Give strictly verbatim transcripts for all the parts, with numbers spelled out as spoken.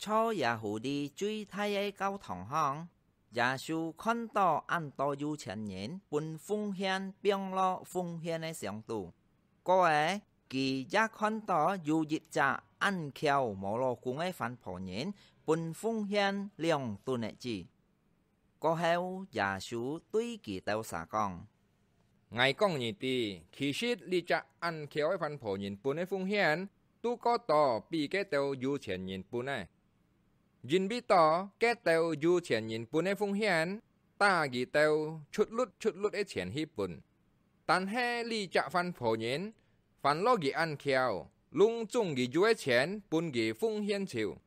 在耶戶裡最大个教堂項，耶穌看到恁多有錢人分奉獻放落奉獻个箱肚。過仔，佢也看到有一隻恁巧無老公个番婆人分奉獻兩噸个子。 過後，耶穌對佢兜儕講：「𠊎講你知，其實這隻恁巧个番婆人分个奉獻，都過多比該兜有錢人分个。因為到該兜有錢人分个奉獻，打佢兜出力出力个錢去分。但係這隻番婆人，反落佢恁巧，攏總佢有个錢分佢奉獻就。」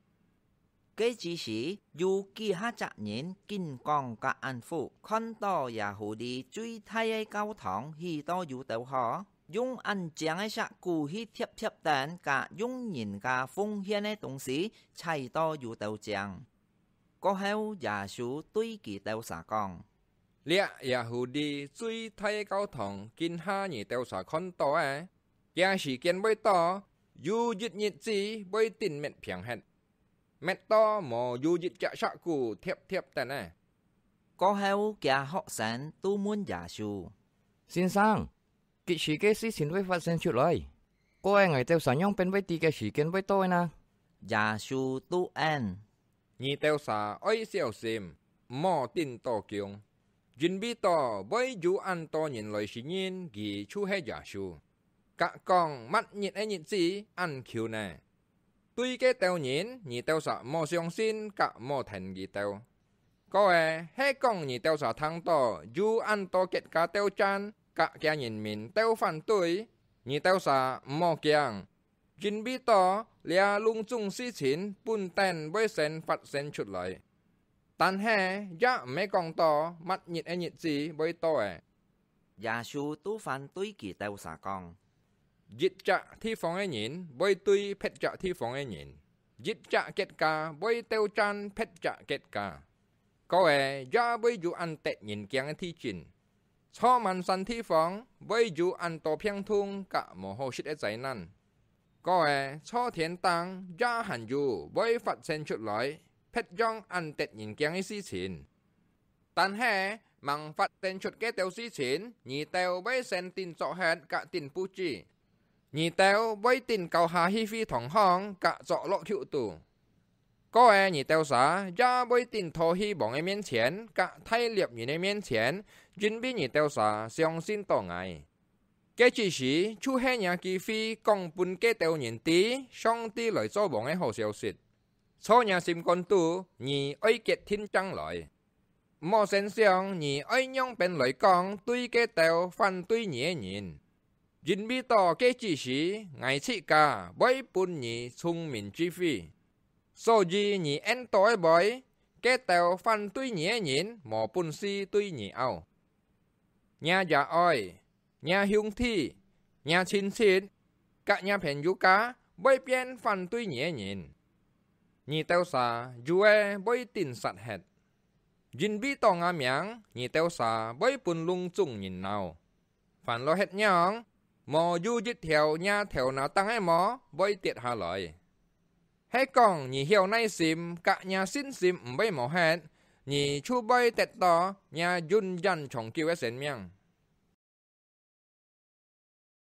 該之時，有幾下隻人經過該暗窟，看到耶戶裡最大个教堂起到有兜好，用恁靚个石牯去貼貼等，甲用人家奉獻个東西裁到有兜靚。過後，耶穌對佢兜儕講：「這耶戶裡最大个教堂，今下你兜儕看到个，佢時間會到，有一日子會定滅平忒， 滅到無有一隻石牯貼貼等个。」過後，厥學生都問耶穌：「先生，幾時个事情會發生出來？過後𠊎兜儕仰般會知該時間會到个呢？」耶穌都應：「你兜儕愛小心，毋好定到降，因為到會有恁多人來承認佢就係耶穌，甲講麼日个日子恁近呢。 對該兜人，你兜儕莫相信甲莫聽佢兜。過後，係講你兜儕聽到有恁多國家鬥戰，甲厥人民鬥反對，你兜儕莫驚，因為到這攏總事情本等會先發生出來，但係也毋係講到麼日个日子會到个。」 耶穌都還對佢兜儕講：「一隻地方个人會對別隻地方个人，一隻國家會鬥戰別隻國家。過後也會有恁得人驚个地震，在滿山地方會有恁多病痛甲無好食个災難。過後在天頂也還有會發生出來別樣恁得人驚个事情。 但係吂發生出該兜事情，你兜會先定做忒甲定布置。你兜會定交下去會堂項甲作落曲肚。過後你兜儕也會定討去王个面前甲大攝人个面前，因為你兜儕相信到𠊎。該之時就係若機會講分該兜人知上帝來做王个好消息。在若心肝肚，你愛決定正來。 毋好先想你愛仰般來講對該兜反對你个人，因為到該之時，𠊎自家會分你聰明智慧。所以你應到个話，該兜反對你个人無本事對你拗。若爺哀、若兄弟、若親戚，甲若朋友家會變反對你个人，你兜儕有个會定殺忒。 因為到吾名，你兜儕會分攏總人惱。凡落歇仰，無有一條若頭那頂个毛會跌下來。係講你曉耐心甲若信心毋會無忒，你就會得到若永遠長久个生命。